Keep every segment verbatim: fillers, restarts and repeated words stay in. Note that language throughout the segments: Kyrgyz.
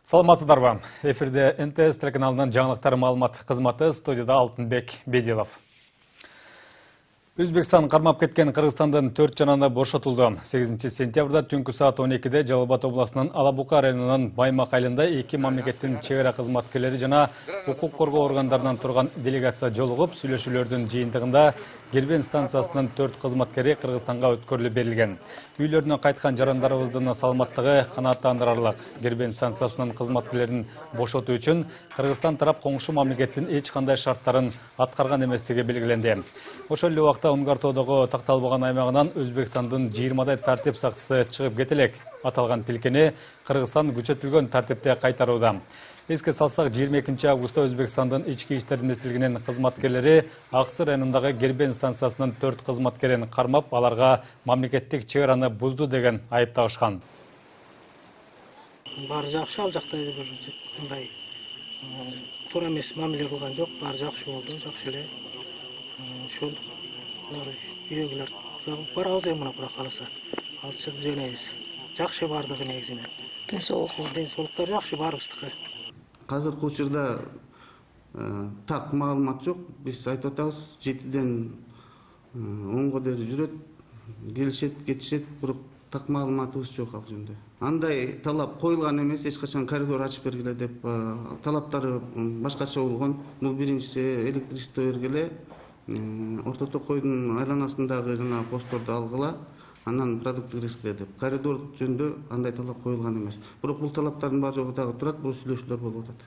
Саламатсыздарбы? Эфирде эн тэ эс телеканалынын жаңылыктар маалымат кызматы, студияда Алтынбек Бедилов. Өзбекстан кармап кеткен Кыргызстандын төрт жананы бошотулду. сегизинчи сентябрда түнкү саат он экиде Жалал Абад областынын Алабука районунун Баймак айылында эки мамлекеттин чек ара кызматкерлери жана укук коргоо органдарынан турган делегация жолугуп, сүйлөшүүлөрдүн жыйынтыгында Гербен станциясынын төрт кызматкери Кыргызстанга өткөрүлүп берилген. Үйлөрүнө кайткан жарандарыбыздын саламаттыгы канааттандырарлык. Гербен станциясынын кызматкерлерин бошотуу үчүн Кыргызстан тарап коңшу мамлекеттин эч кандай шарттарын аткарган эместиги белгиленди. Ошол эле убакта Унгартоодогу такталбаган аймагынан Өзбекстандын жыйырмадай тартип сакчысы чыгып кетелек. Аталган тилкени Кыргызстан күчөтүлгөн тартипте кайтарууда. Эске салсак, жыйырма экинчи августта Өзбекстандын ички иштер министрлигинин кызматкерлери Аксы районундагы Гербен станциясынын төрт кызматкерин кармап, аларга мамлекеттик чек араны бузду деген айып тагышкан. Баары жакшы, ал жакта бир мындай туура эмес мамиле кылган жок, баары жакшы болду, жакшы эле. Ошол үйгөлөр барабыз эми мына Кудай кааласа. Ал чыгып жөнөйбүз. Жакшы бардыгы негизинен. Ден соолук, ден соолуктар жакшы баарыбыздыкы. Азыркы учурда так маалымат жок. Биз айтып атабыз, жетиден онго дейин жүрөт, келишет, кетишет, бирок так маалыматыбыз жок ал жөнүндө. Андай талап коюлган эмес, эч качан коридор ачып бергиле деп талаптары башкача болгон. Бул биринчиси электричество бергиле, Орто Токойдун айланасындагы жана постторду алгыла, анан продукт киргизгиле деп. Коридор жөнүндө андай талап коюлган эмес. Бирок бул талаптардын баары жогу дагы турат, бул сүйлөшүүлөр болуп атат.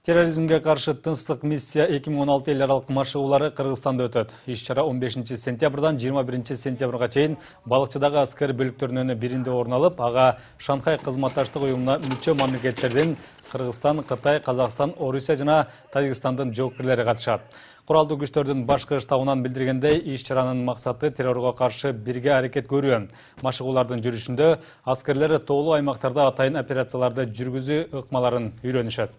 Терроризмге каршы тынчтык миссия эки миң он алты эл аралык машыгуулары Кыргызстанда өтөт. Иш-чара он бешинчи сентябрдан жыйырма биринчи сентябрга чейин балыкчыдагы аскер бөлүктөрүнүн биринде орун алып, ага Шанхай кызматташтык уюмуна мүчө мамлекеттердин Кыргызстан, Кытай, Казакстан, Орусия жана Тажикстандын жоопкерлери катышат. Куралдуу күчтөрдүн башкы штабынан билдиргендей, иш-чаранын максаты террорго каршы бирге аракет көрүү. Машыгуулардын жүрүшүндө аскерлер тоолуу аймактарда атайын операцияларды жүргүзүү ыкмаларын үйрөнүшөт.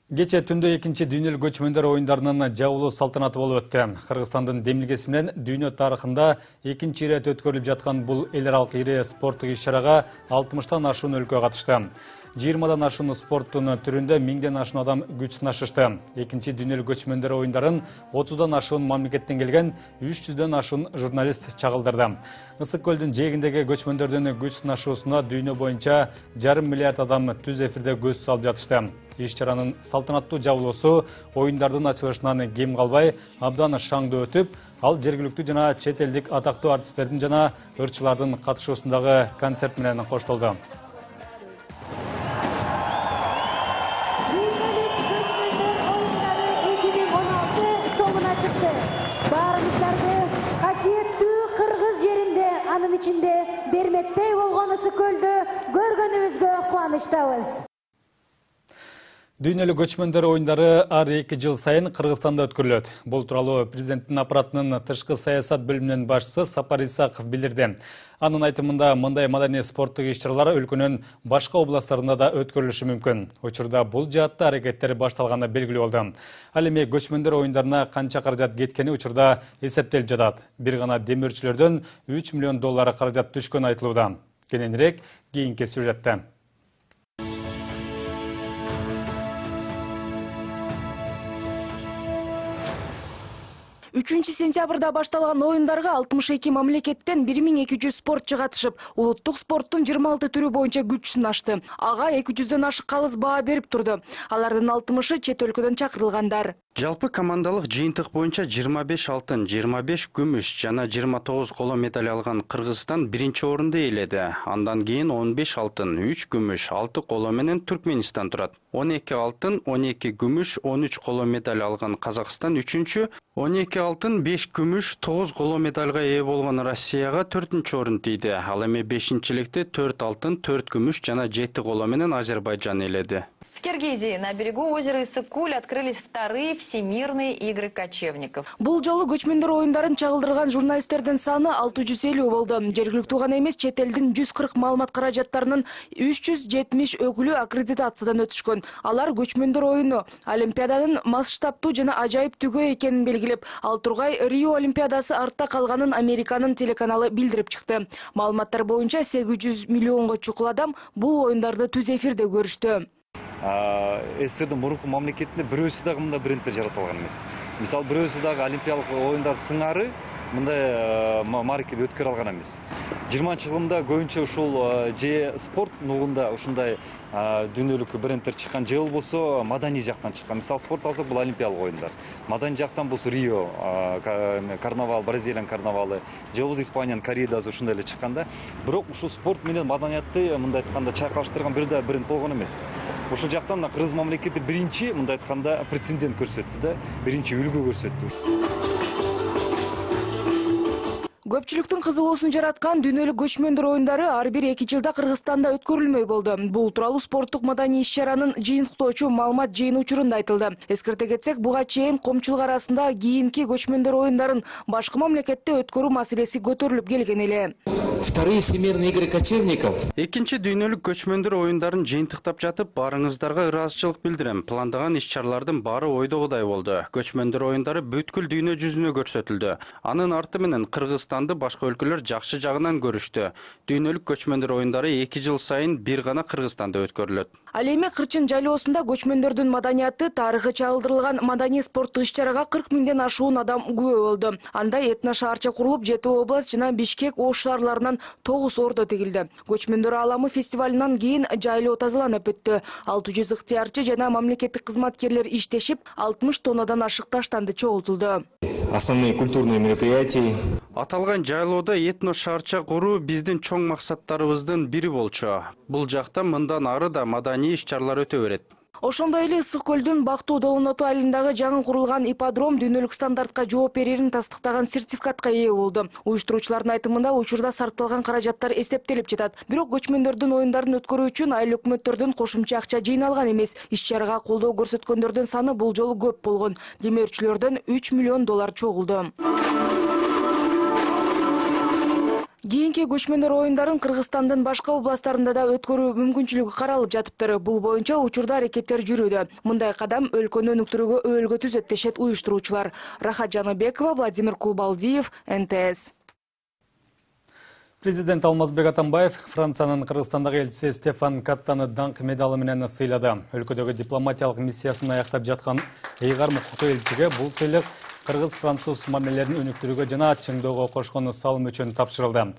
Кече түндө экинчи дүйнөлүк көчмөндөр оюндарынын жабылуу салтанаты болуп өттү. Кыргызстандын демилгеси менен дүйнө тарыхында экинчи ирет өткөрүлүп жаткан бул эл аралык ири спорттук иш-чарага алтымыштан ашуун өлкө катышты. жыйырмадан ашуун спорттун түрүндө миңден ашуун адам күч сынашышты. Экинчи дүйнөлүк көчмөндөр оюндарын отуздан ашуун мамлекеттен келген үч жүздөн ашуун журналист чагылдырды. Ысык көлдүн жээгиндеги көчмөндөрдүн күч сынашуусуна дүйнө боюнча жарым миллиард адам түз эфирде көз салып жатышты. Иш-чаранын салтанаттуу жабылуусу оюндардын ачылышынан кем калбай абдан шаңдуу өтүп, ал жергиликтүү жана чет элдик атактуу артисттердин жана ырчылардын катышуусундагы концерт менен коштолду. Дүйнөлүк көчмөндөр оюндары эки миң он алты соңуна чыкты. Баарыбыздарды касиеттүү Кыргыз жеринде, анын ичинде Берметтей болгон ысык көлдү көргөнүбүзгө кубанычтабыз. Дүйнөлүк көчмөндөр оюндары ар эки жыл сайын Кыргызстанда өткөрүлөт. Бул тууралуу президенттин аппаратынын тышкы саясат бөлүмүнүн башчысы Сапар Исаков билдирди. Анын айтымында, мындай маданий спорттук иш-чаралар өлкөнүн башка областтарында да өткөрүлүшү мүмкүн. Учурда бул жаатта аракеттер башталганы белгилүү болду. Ал эми көчмөндөр оюндарына канча каражат кеткени учурда эсептелип жатат. Бир гана демөөрчүлөрдөн үч миллион доллар каражат түшкөнү айтылууда. Кененирээк кийинки сюжетте. үчүнчү сентябрда башталган оюндарга алтымыш эки мамлекеттен бир миң эки жүз спортчу катышып, улуттук спорттун жыйырма алты түрү боюнча күч сынашты. Ага эки жүздөн ашык калыс баа берип турду. Алардын алтымышы чет өлкөдөн чакырылгандар. Жалпы командалык жыйынтык боюнча жыйырма беш алтын, жыйырма беш күмүш жана жыйырма тогуз коло медаль алган Кыргызстан биринчи орунду ээледи. Андан кийин он беш алтын, үч күмүш, алты коло менен Түркменистан турат. он эки алтын, он эки күмүш, он үч коло медаль алган Казакстан үчүнчү, он эки алтын, беш күмүш, тогуз коло медальга ээ болгон Россияга төртүнчү орун тийди. Ал эми бешинчиликте төрт алтын, төрт күмүш жана жети коло менен Азербайжан ээледи. В Киргизии на берегу озера Иссык-Куль открылись вторые всемирные игры кочевников. Бул жолу көчмөндөр оюндарын чагылдырган журналисттердин саны алты жүз элүү болду. Жергиликтүү гана эмес, чет элдин жүз кырк маалымат каражаттарынын үч жүз жетимиш өкүлү аккредитациядан өтүшкөн. Алар көчмөндөр оюну Олимпиаданын масштабтуу жана ажайыптүүгө экенин белгилеп, ал тургай Рио Олимпиадасы артта калганын Американын телеканалы билдирип чыкты. Маалыматтар боюнча сегиз жүз миллионго чукул адам бул оюндарды түз эфирде көрүштү. СССРдин мурунку мамлекетинде бирөөсү дагы мындай брендтер жаратылган эмес. Мисалы бирөөсү дагы Олимпиялык оюндар сыңары мындай маркеде өткөрө алган эмес. жыйырманчы жылымда көбүнчө ушул же спорт нугунда ушундай дүйнөлүк брендтер чыккан, же болбосо маданий жактан чыккан. Мисалы спорт алсак, бул Олимпиялык оюндар. Маданий жактан болсо Рио карнавал, Бразилиянын карнавалы, же болбосо Испаниянын корридасы ушундай эле чыкканда. Бирок ушул спорт менен маданиятты мындай айтканда чайкалыштырган бир да бренд болгон эмес. Ушул жактан Кыргыз мамлекети биринчи мындай айтканда прецедент көрсөттү да, биринчи үлгү көрсөттү. Көпчүлүктүн кызыгуусун жараткан дүйнөлүк көчмөндөр оюндары ар бир эки жылда Кыргызстанда өткөрүлмөй болду. Бул тууралуу спорттук маданий иш-чаранын жыйынтыктоочу маалымат жыйын учурунда айтылды. Эскерте кетсек, буга чейин коомчулук арасында кийинки көчмөндөр оюндарын башка мамлекетте өткөрүү маселеси көтөрүлүп келген эле. Вторые всемирные игры кочевников. Экинчи дүйнөлүк көчмөндөр оюндарын жыйынтыктап жатып, баарыңыздарга ыраазычылык билдирем. Пландаган иш-чаралардын баары ойдогудай болду. Көчмөндөр оюндары бүткүл дүйнө жүзүнө көрсөтүлдү. Анын арты менен Кыргызстанды башка өлкөлөр жакшы жагынан көрүштү. Дүйнөлүк көчмөндөр оюндары эки жыл сайын бир гана Кыргызстанда өткөрүлөт. Ал эми Кырчын жайлоосунда көчмөндөрдүн маданияты, тарыхы чагылдырылган маданий спорттук иш-чарага кырк миңден ашуун адам күбө болду. Анда этно шаарча курулуп, Жети область жана Бишкек Ош шаарларынан тогуз ордо тигилди. Көчмөндөр ааламы фестивалынан кийин жайлоо тазаланып өттү. алты жүз ыктыярчы жана мамлекеттик кызматкерлер иштешип, алтымыш тоннадан ашык таштанды чогултулду. Основные культурные мероприятия. Аталган жайлоодо этно шаарча куруу биздин чоң максаттарыбыздын бири болчу. Бул жакта мындан ары да маданий иш-чаралар өтө берет. Ошондой эле Ысык-Көлдүн Бактуу Долоноту айылындагы жаңы курулган ипподром дүйнөлүк стандартка жооп берерин тастыктаган сертификатка ээ болду. Уюштуруучулардын айтымында учурда сарпталган каражаттар эсептелип жатат. Бирок көчмөндөрдүн оюндарын өткөрүү үчүн айыл өкмөттөрдөн кошумча акча жыйналган эмес. Иш-чарага колдоо көрсөткөндөрдүн саны бул жолу көп болгон. Демөөрчүлөрдөн үч миллион доллар чогулду. Кийинки көчмөндөр оюндарын Кыргызстандын башка областтарында да өткөрүү мүмкүнчүлүгү каралып жатыптыр. Бул боюнча учурда аракеттер жүрүүдө. Мындай кадам өлкөнү өнүктүрүүгө өбөлгө түзөт дешет уюштуруучулар. Рахат Жаныбекова, Владимир Кулбалдиев, эн тэ эс. Президент Алмазбек Атамбаев Франциянын Кыргызстандагы элчиси Стефан Каттаны даңк медалы менен сыйлады. Өлкөдөгү дипломатиялык миссиясын аяктап жаткан Эйгар Мукуктуу элчиге бул сыйлык кыргыз-француз мамилелерин өнүктүрүүгө жана чыңдоого кошкон салым үчүн тапшырылды.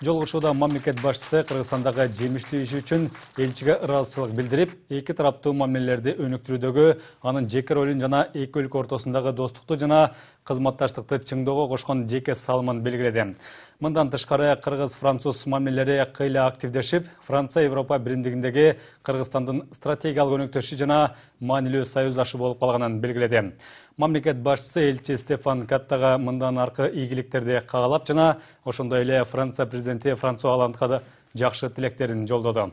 Жолугушууда мамлекет башчысы Кыргызстандагы жемиштүү иши үчүн элчиге ыраазычылык билдирип, эки тараптуу мамилелерди өнүктүрүүдөгү анын жеке ролун жана эки өлкө ортосундагы достукту жана кызматташтыкты чыңдоого кошкон жеке салымын белгиледи. Мындан тышкары кыргыз-француз мамилелери кыйла активдешип, Франция Европа биримдигиндеги Кыргызстандын стратегиялык өнөктөшү жана маанилүү союздашы болуп калганын белгиледи. Мамлекет башчысы элчи Стефан Каттага мындан аркы ийгиликтерди каалап жана ошондой эле Франция президенти Франсуа Олландга да жакшы тилектерин жолдоду.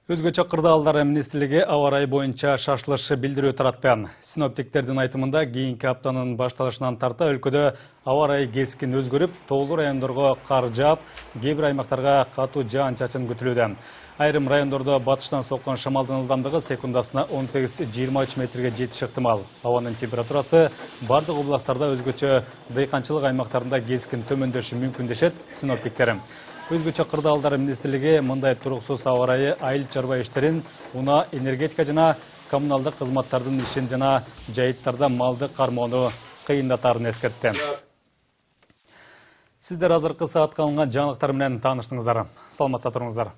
Өзгөчө кырдаалдар министрлиги аба ырайы боюнча шашылыш билдирүү таратты. Синоптиктердин айтымында кийинки аптанын башталышынан тарта өлкөдө аба ырайы кескин өзгөрүп, тоолуу райондорго кар жаап, кээ бир аймактарга катуу жаан-чачын күтүлүүдө. Айрым райондордо батыштан соккон шамалдын ылдамдыгы секундасына он сегиз жыйырма үч метрге жетиши ыктымал. Абанын температурасы бардык областтарда өзгөчө дыйканчылык аймактарында кескин төмөндөшү мүмкүн дешет синоптиктер. Өзгөчө кырдаалдар министрлиги мындай туруксуз аба ырайы айыл чарба иштерин, унаа, энергетика жана коммуналдык кызматтардын ишин жана жайыттарда малды кармоону кыйындатарын эскертти. Сиздер азыркы саатка алынган жаңылыктар менен тааныштыңыздар. Саламатта туруңуздар.